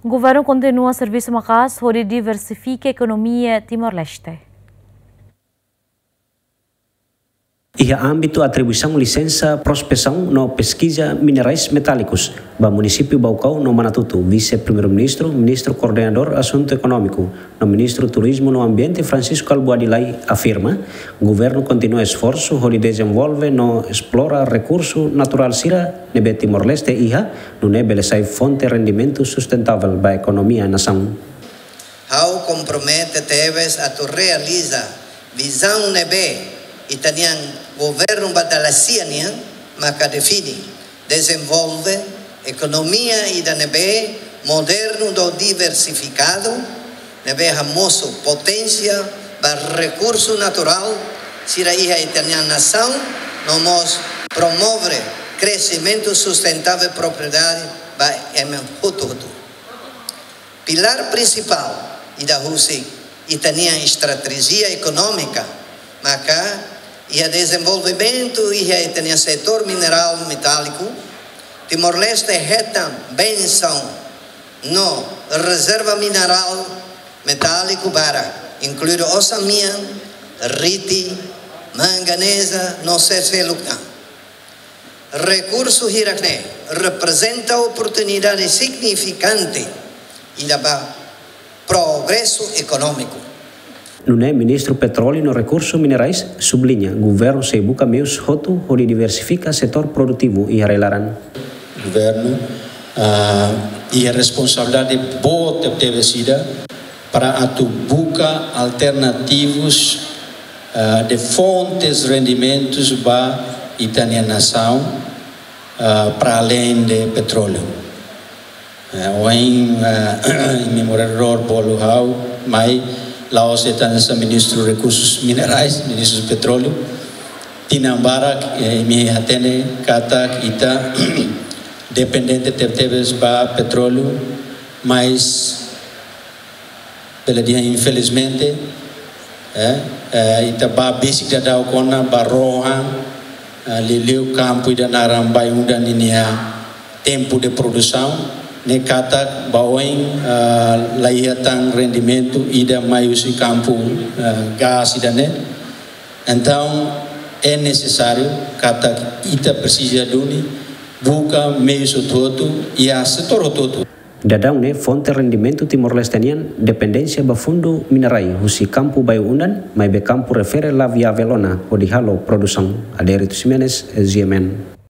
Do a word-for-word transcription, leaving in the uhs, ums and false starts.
Governu kontinua servisu maka'as hodi diversifika ekonomia Timor-Leste. Iha ámbitu atribuisaun lisensa prospesaun no peskiza minerais metálikus ba munisípiu Baucau no Manatuto, Vise-Primeiru-Ministru, Ministru Koordenadór Asuntu Ekonómiku no Ministru Turizmu no Ambiente, Francisco Albuady Lay, afirma, governu kontinua esforsu hodi dezenvolve no esplora rekursu naturál sira ne'ebé Timor-Leste iha, nune'e bele sai fonte rendimentu sustentavel ba ekonomia nasaun. Ha'u kompromete tebes atu realiza vizaun ne'ebé ita-nia governu ba dala sia nian maka define, dezenvolve ekonomia ida ne'ebé modernu no diversifikadu, ne'ebé hamosu poténsia ba rekursu naturál sira iha ita-nia nasaun, no mós promove kreximentu sustentavel propriedade ba ema hotu-hotu. Pilár prinsipál ida husi ita-nia estratéjia ekonómika maka iha dezenvolvimentu iha ita-nia setór minerál metáliku. Timor-Leste hetan bensaun no rezerva minerál metáliku barak, inkluidu oxamian, riti, manganeza no seluk tan. Rekursu hirak-ne'e reprezenta oportunidade signifikante ida ba progresu ekonómiku. Nune'e Ministru Petróleu no Rekursu Minerais subliña, governu sei buka meius hotu hodi diversifika setór produtivu iha rai-laran. Governu, ah, iha responsabilidade boot tebes ida para atu buka alternativus, ah, de fontes rendimentus ba ita-nia nasaun, ah, para além de petróleu. Eh, ohin, eh, imi moradór bolu ha'u, mai la'ós de'it hanesan Ministru Rekursus Minerais, Ministru Petróleu. Tinan barak, eh, imi hatene katak ita dependente tebetebes ba petróleu, mas bele dehan infelizmente, eh, eh, ita bá besik daudaun ona ba rohan, eh, liuliu kampu ida naran Bayu-Undan ninia tempu de produsaun, ne'e katak ba oin, eh, la iha tan rendimentu ida mai husi kampu, eh, gás ida-ne'e. Entaun, é nesesáriu katak ita presiza duni buka meius hotu-hotu iha setór hotu-hotu. Daudaun ne'e fonte rendimentu Timor-Leste nian dependénsia ba fundu minerai husi kampu Bayu-Undan, maibé kampu refere la viavel ona hodi halo produsaun. Adérito Ximenes, G M N.